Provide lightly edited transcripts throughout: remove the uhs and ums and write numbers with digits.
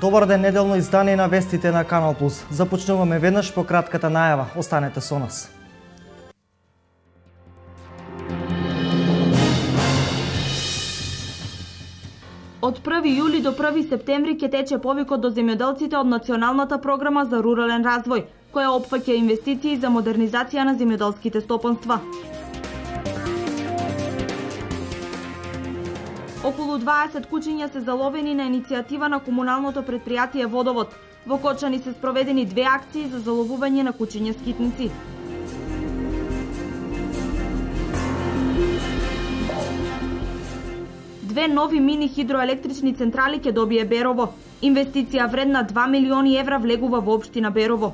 Добар ден, неделно издание на вестите на Канал Плюс. Започнуваме веднаш по кратката најава. Останете со нас. Од 1 јули до 1 септември ќе тече повикот до земјоделците од Националната програма за рурален развој, која опфаќа инвестиции за модернизација на земјоделските стопанства. Околу 20 кучиња се заловени на иницијатива на комуналното претпријатие Водовод. Во Кочани се спроведени 2 акции за заловување на кучиња скитници. Две нови мини хидроелектрични централи ќе добие Берово. Инвестиција вредна 2 милиони евра влегува во општина Берово.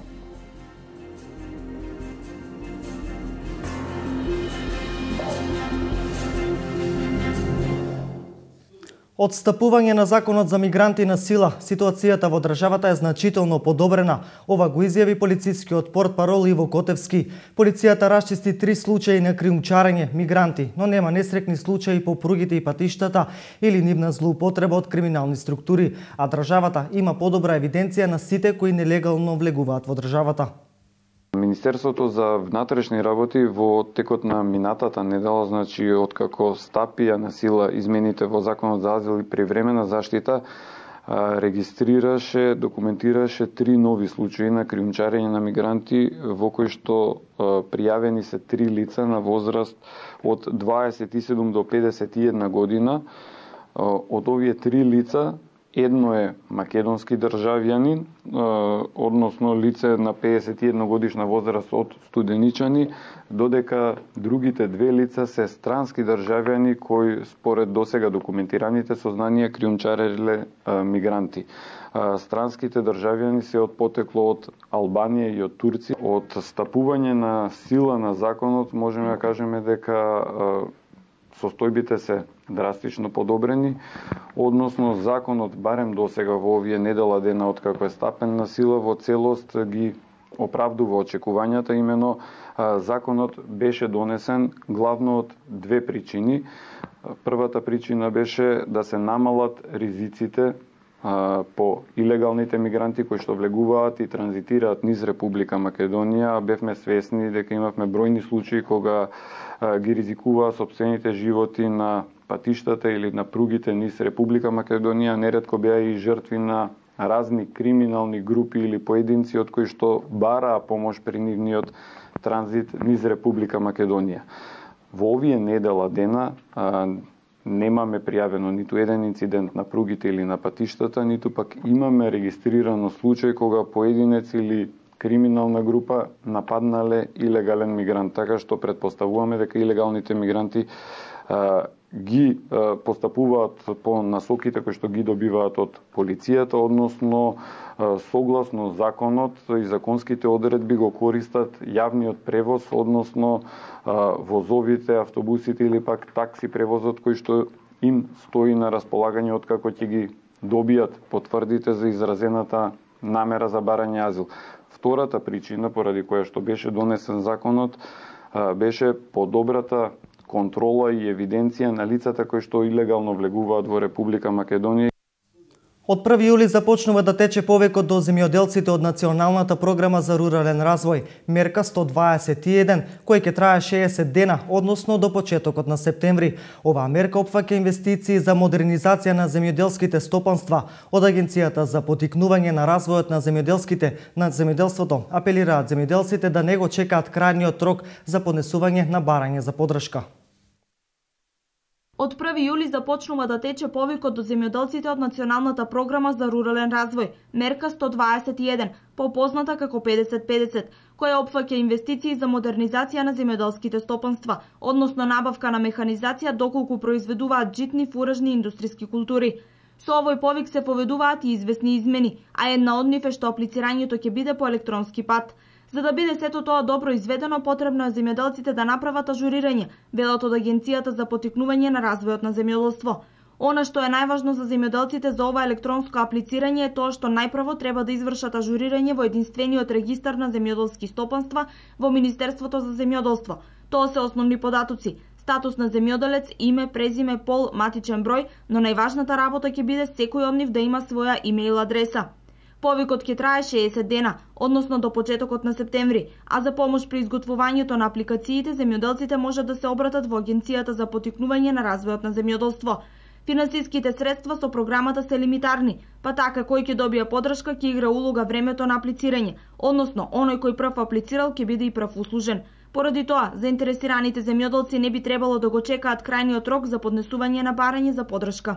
Отстапување на законот за мигранти на сила, ситуацијата во државата е значително подобрена. Ова го изјави полицискиот портпарол Иво Котевски. Полицијата расчисти 3 случаи на криумчарење мигранти, но нема несрекни случаи по пругите и патиштата или нивна злоупотреба од криминални структури, а државата има подобра евиденција на сите кои нелегално влегуваат во државата. Министерството за внатрешни работи во текот на минатата недела, значи откако стапија на сила измените во Законот за азил и привремена заштита, регистрираше, документираше 3 нови случаи на криумчарење на мигранти, во кои што пријавени се 3 лица на возраст од 27 до 51 година. Од овие 3 лица, едно е македонски државјанин, односно лице на 51 годишна возраст од Студеничани, додека другите 2 лица се странски државјани кои според досега документираните сознанија криумчареле мигранти. Странските државјани се од потекло од Албанија и од Турција. Од стапување на сила на законот можеме да кажеме дека состојбите се драстично подобрени, односно законот барем досега во овие недела дена откако е стапен на сила во целост ги оправдува очекувањата. Имено законот беше донесен главно од 2 причини. Првата причина беше да се намалат ризиците по илегалните мигранти кои што влегуваат и транзитираат низ Република Македонија. Бевме свесни дека имавме бројни случаи кога ги ризикуваа сопствените животи на патиштата или на пругите низ Република Македонија. Неретко беа и жртви на разни криминални групи или поединци од кои што бараа помош при нивниот транзит низ Република Македонија. Во овие недела дена немаме пријавено ниту еден инцидент на пругите или на патиштата, ниту пак имаме регистрирано случај кога поединец или криминална група нападнале илегален мигрант, така што предпоставуваме дека илегалните мигранти ги постапуваат по насоките кои што ги добиваат од полицијата, односно согласно законот и законските одредби го користат јавниот превоз, односно возовите, автобусите или пак такси превозот кој што им стои на располагање откако ќе ги добијат потврдите за изразената намера за барање азил. Втората причина поради која што беше донесен законот беше подобрата контрола и евиденција на лицата кои што илегално влегуваат во Република Македонија. Од 1 јули започнува да тече повикот до земјоделците од Националната програма за рурален развој, мерка 121, кој ќе трае 60 дена, односно до почетокот на септември. Оваа мерка опфаќа инвестиции за модернизација на земјоделските стопанства. Од Агенцијата за поттикнување на развојот на земјоделството апелираат земјоделците да не го чекаат крајниот рок за поднесување на барање за поддршка. Од 1 јули започнува да тече повикот до земјоделците од Националната програма за рурален развој, мерка 121, попозната како 50-50, која опфаќа инвестиции за модернизација на земјоделските стопанства, односно набавка на механизација доколку произведуваат житни, фуражни и индустријски култури. Со овој повик се поведуваат и известни измени, а една од нив е што аплицирањето ќе биде по електронски пат. За да биде сето тоа добро изведено, потребно е земјоделците да направат ажурирање, велат од Агенцијата за поттикнување на развојот на земјоделство. Она што е најважно за земјоделците за ова електронско аплицирање е тоа што најпрво треба да извршат ажурирање во единствениот регистар на земјоделски стопанства во Министерството за земјоделство. Тоа се основни податоци: статус на земјоделец, име, презиме, пол, матичен број, но најважната работа ќе биде секој од нив да има своја имејл адреса. Повикот ќе трае 60 дена, односно до почетокот на септември, а за помош при изготвувањето на апликациите земјоделците можат да се обратат во Агенцијата за поттикнување на развојот на земјоделство. Финансиските средства со програмата се лимитарни, па така кој ќе добија поддршка ќе игра улога времето на аплицирање, односно оној кој прв аплицирал ќе биде и прв услужен. Поради тоа, заинтересираните земјоделци не би требало да го чекаат крајниот рок за поднесување на барање за поддршка.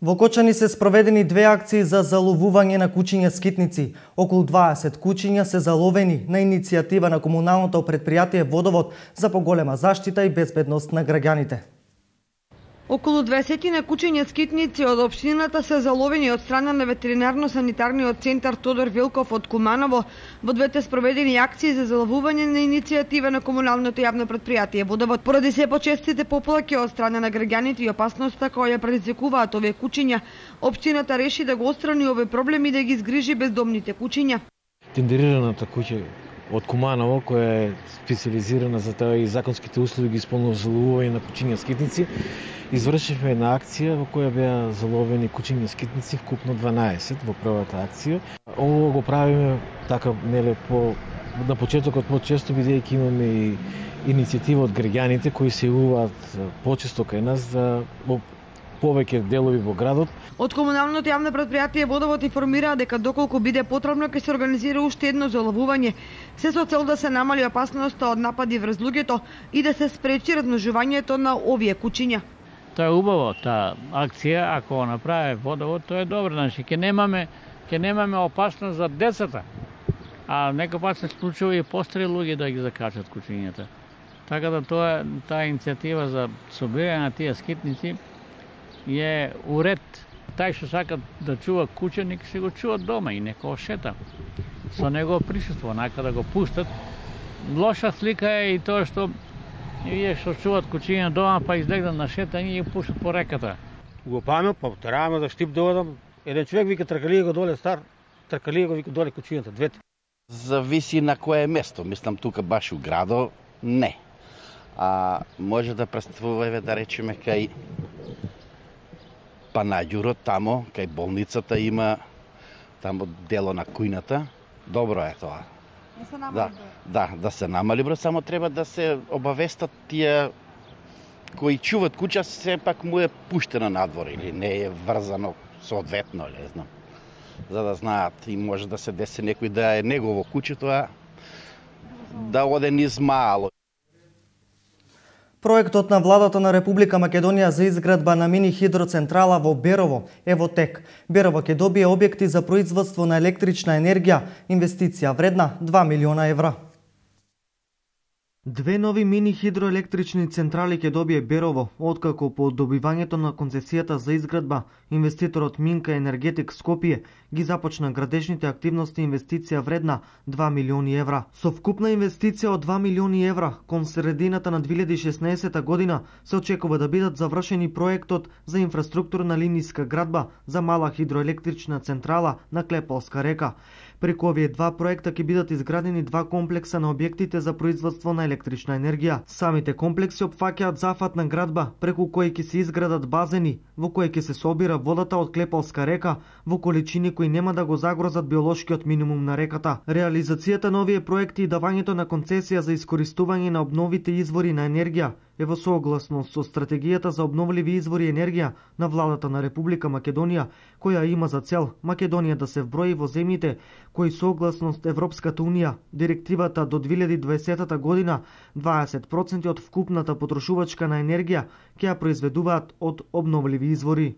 Во Кочани се спроведени две акции за заловување на кучиња скитници. Околу 20 кучиња се заловени на иницијатива на комуналното предпријатие Водовод за поголема заштита и безбедност на граѓаните. Околу 20 на кучиња скитници од општината се заловени од страна на ветеринарно-санитарниот центар Тодор Вилков од Куманово во двете спроведени акции за заловување на иницијатива на комуналното јавно предпријатие Водовод. Поради се почестите поплаки од страна на граѓаните и опасноста која ја предизвикуваат овие кучиња, општината реши да го отстрани овој проблем и да ги згрижи бездомните кучиња. Тендерираната куќа од Куманово, која е специализирана за тоа и законските услови ги исполнува заловување на кучиња скитници, извршивме една акција во која беа заловени кучиња скитници, вкупно 12 во првата акција. Ово го правиме така неле на почетокот почесто, бидејќи имаме и иницијатива од граѓаните кои се јавуваат почесто кај нас за повеќе делови во градот. Од комуналното јавно предпријатие Водовод информираа дека доколку биде потребно ќе се организира уште едно заловување, се со цел да се намали опасноста од напади врз луѓето и да се спречи размножувањето на овие кучиња. Тоа е убаво, таа акција, ако го направи Водовод, тоа е добро, значи ќе немаме опасност за децата. А некој пат се случува и постари луѓе да ги закачат кучињата. Така да таа иницијатива за собирање на тие скитници е уред. Тај што сака да чува куче, нека се го чува дома и нека шета со негово присуство, нака да го пуштат. Лоша слика е и тоа што вие што чуват кучиња дома, па излегнат на шетање и пуштат по реката. Го памет, па тераме за штип доведам. Еден човек вика тркалија го доле стар, тркалија го вика доле кучињата, двете. Зависи на кое место, мислам тука баш у градо, не. А може да представува, да речеме, кај Панаѓурот, тамо, кај болницата има тамо дело на кујната. Добро е тоа. Да се намали број, само треба да се обавестат тие кои чуват куќа, сепак му е пуштено надвор или не е врзано соодветно, не знам. За да знаат и може да се деси некој да е негово куќе, тоа да оде низ мало. Проектот на владата на Република Македонија за изградба на мини хидроцентрала во Берово е во тек. Берово ќе добие објекти за производство на електрична енергија, инвестиција вредна 2 милиона евра. Две нови мини хидроелектрични централи ќе добие Берово, откако по добивањето на концесијата за изградба, инвеститорот Минка Енергетик Скопје ги започна градежните активности, инвестиција вредна 2 милиони евра. Со вкупна инвестиција од 2 милиони евра, кон средината на 2016 година се очекува да бидат завршени проектот за инфраструктурна линиска градба за мала хидроелектрична централа на Клепалска река. Преку овие два проекта ќе бидат изградени два комплекса на објектите за производство на електрична енергија. Самите комплекси опфаќаат зафатна градба преку кои ќе се изградат базени во кои ќе се собира водата од Клепалска река во количини кои нема да го загрозат биолошкиот минимум на реката. Реализацијата на овие проекти и давањето на концесија за искористување на обновите извори на енергија е во согласност со стратегијата за обновливи извори енергија на владата на Република Македонија, која има за цел Македонија да се вброи во земјите кои согласност Европската унија, директивата до 2020 година 20% од вкупната потрошувачка на енергија ќе ја произведуваат од обновливи извори.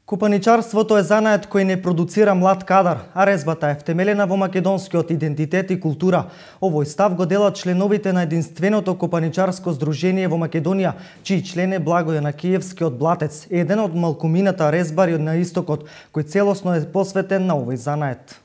Купаничарството е занает кој не продуцира млад кадар, а резбата е втемелена во македонскиот идентитет и култура. Овој став го делат членовите на единственото купаничарско здружение во Македонија, чиј член е Благојана Киевски од Блатец, еден од малкумината резбари на истокот, кој целосно е посветен на овој занает.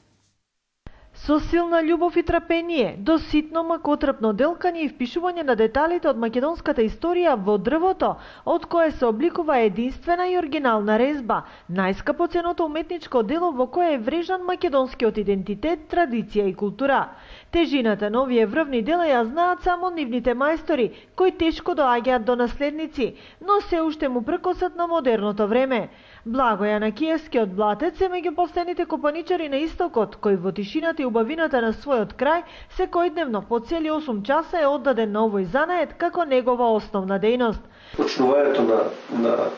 Со силна љубов и трпение, до ситно макотрпно делкање и впишување на деталите од македонската историја во дрвото, од кое се обликува единствена и оригинална резба, најскапоценото уметничко дело во кое е врежан македонскиот идентитет, традиција и култура. Тежината на овие врвни дела ја знаат само нивните мајстори, кои тешко доаѓаат до наследници, но се уште му пркосат на модерното време. Благој Јанакиевски од Блатец е меѓу последните копаничари на истокот, кој во тишината и убавината на својот крај секојдневно по цели 8 часа е оддаден на овој занает како негова основна дејност. Почнувањето на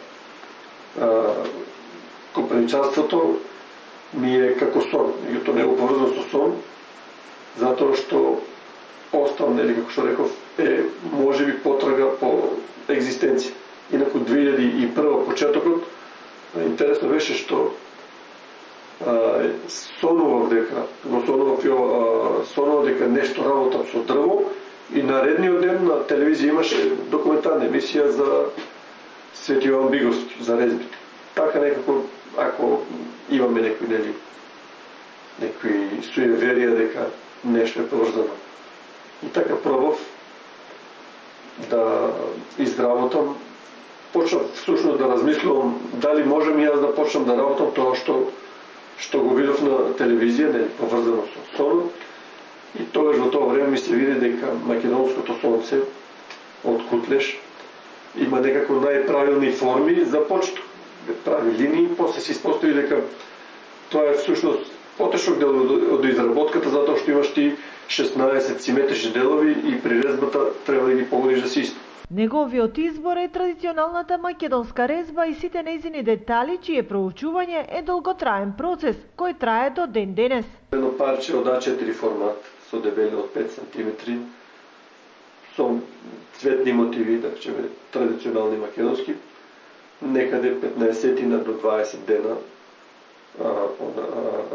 копаничарството ми е како сон, и тоа не го поврзано со сон, затоа што остав, нели, како што реков, е можеби потрага по екзистенција. Инаку 2001 почетокот, интересно беше што сонував дека нешто работам со дрво и наредниот ден на телевизија имаше документарна емисија за Свети Јован Биговски, за резбите. Така некако, ако имаме некои суеверија дека нешто е поврзано. И така пробав да изработам, почнав всушност да размислувам дали можем и јас да почнам да работам тоа што го видов на телевизија, нели, поврзано со сонот. И тогаш во тоа време ми се види дека македонското сонце од Кутлеш има некако најправилни форми за почеток. Прави линии, после се испостави дека тоа е всушност потешок дел од изработката, затоа што имаш ти 16 симетрични делови и при резбата треба да ги погодиш да се исто. Неговиот избор е традиционалната македонска резба и сите нејзини детали, чие проучување е долготраен процес, кој трае до ден денес. Едно парче од А4 формат, со дебелина од 5 см, со цветни мотиви, да речеме традиционални македонски, некаде 15 до 20 дена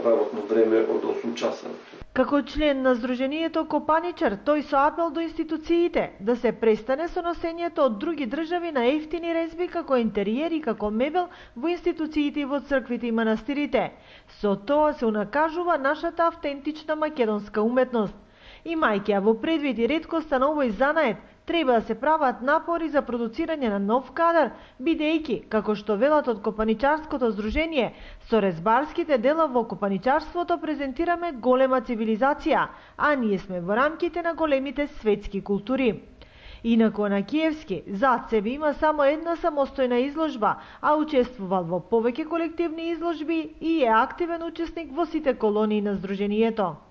работно време од 8 часа. Како член на Сдруженијето Копаничар, тој со апел до институциите да се престане со носењето од други држави на ефтини резби како интериер и како мебел во институциите и во црквите и манастирите. Со тоа се унакажува нашата автентична македонска уметност. Имајќи ја во предвид и реткоста на овој занает, треба да се прават напори за продуцирање на нов кадар, бидејќи, како што велат од Копаничарското здружение, со резбарските дела во копаничарството презентираме голема цивилизација, а ние сме во рамките на големите светски култури. Инаку Јанакиевски зад себе има само една самостојна изложба, а учествувал во повеќе колективни изложби и е активен учесник во сите колонии на здруженијето.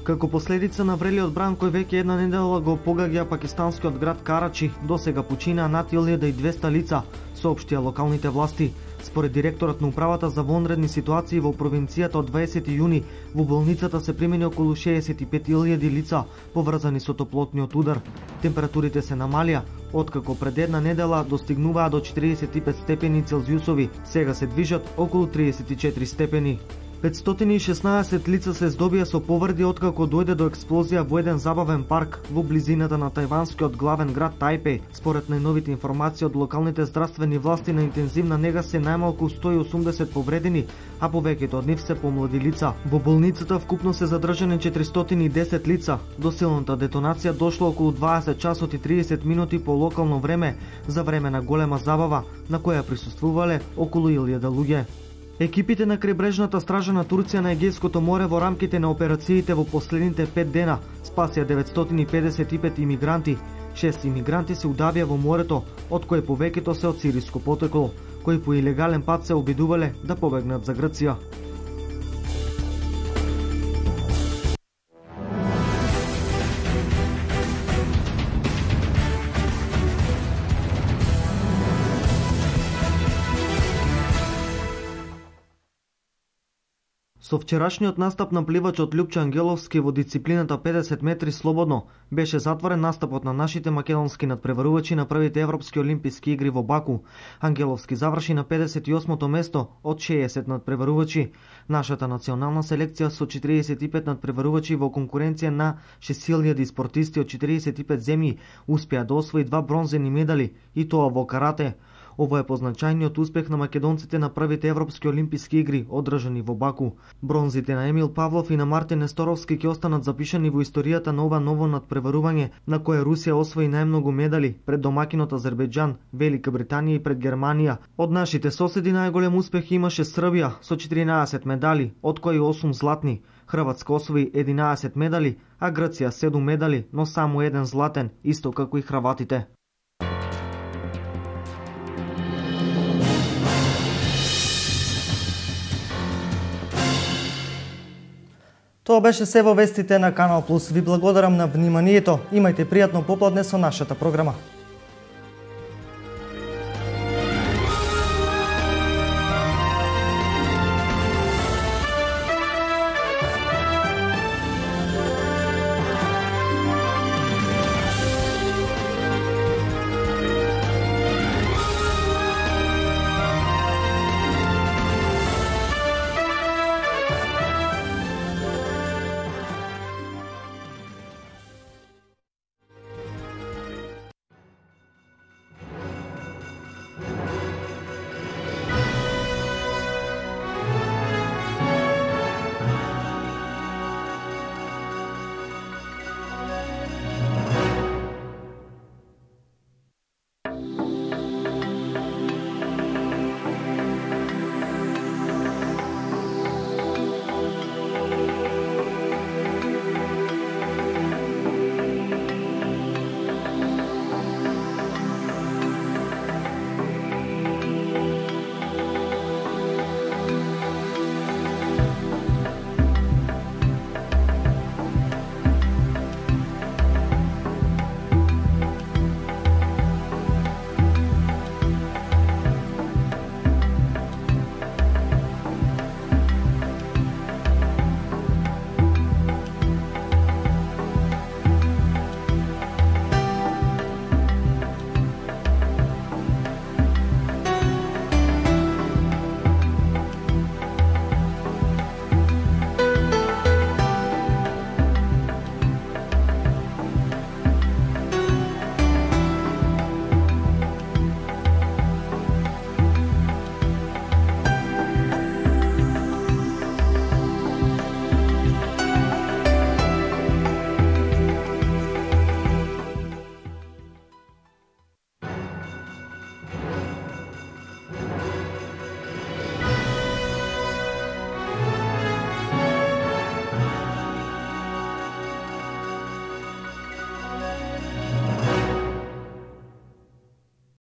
Како последица на врелиот бран кој веќе една недела го погаѓа пакистанскиот град Карачи, досега починаа над 1200 лица, соопштија локалните власти. Според директорот на управата за вонредни ситуации во провинцијата од 20 јуни, во болницата се примени околу 65.000 лица поврзани со топлотниот удар. Температурите се намалија, откако пред една недела достигнуваа до 45 степени Целзиусови, сега се движат околу 34 степени. 516 лица се здобија со повреди откако дојде до експлозија во еден забавен парк во близината на тајванскиот главен град Тајпеј. Според најновите информации од локалните здравствени власти, на интензивна нега се најмалку 180 повредени, а повеќето од нив се помлади лица. Во болницата вкупно се задржани 410 лица. До силната детонација дошло околу 20 часот и 30 минути по локално време, за време на голема забава, на која присуствувале околу 1000 луѓе. Екипите на крајбрежната стража на Турција на Егејското море во рамките на операциите во последните 5 дена спасија 955 имигранти. 6 имигранти се удавија во морето, од кои повеќето се од сириско потекло, кои по илегален пат се обидувале да побегнат за Грција. Со вчерашниот настап на пливачот Љупчо Ангеловски во дисциплината 50 метри слободно беше затворен настапот на нашите македонски надпреварувачи на првите европски олимписки игри во Баку. Ангеловски заврши на 58-то место од 60 надпреварувачи. Нашата национална селекција со 45 надпреварувачи во конкуренција на 6000 спортисти од 45 земји успеа да освои 2 бронзени медали, и тоа во карате. Ова е позначајниот успех на македонците на првите европски олимписки игри, одржани во Баку. Бронзите на Емил Павлов и на Мартин Несторовски ќе останат запишани во историјата на ова ново надпреварување, на кое Русија освои најмногу медали пред домакинот Азербејџан, Велика Британија и пред Германија. Од нашите соседи најголем успех имаше Србија со 14 медали, од кои 8 златни. Хрватска освои 11 медали, а Грција 7 медали, но само 1 златен, исто како и хрватите. Тоа беше се во вестите на Канал Плюс. Ви благодарам на вниманието. Имајте пријатно попладне со нашата програма.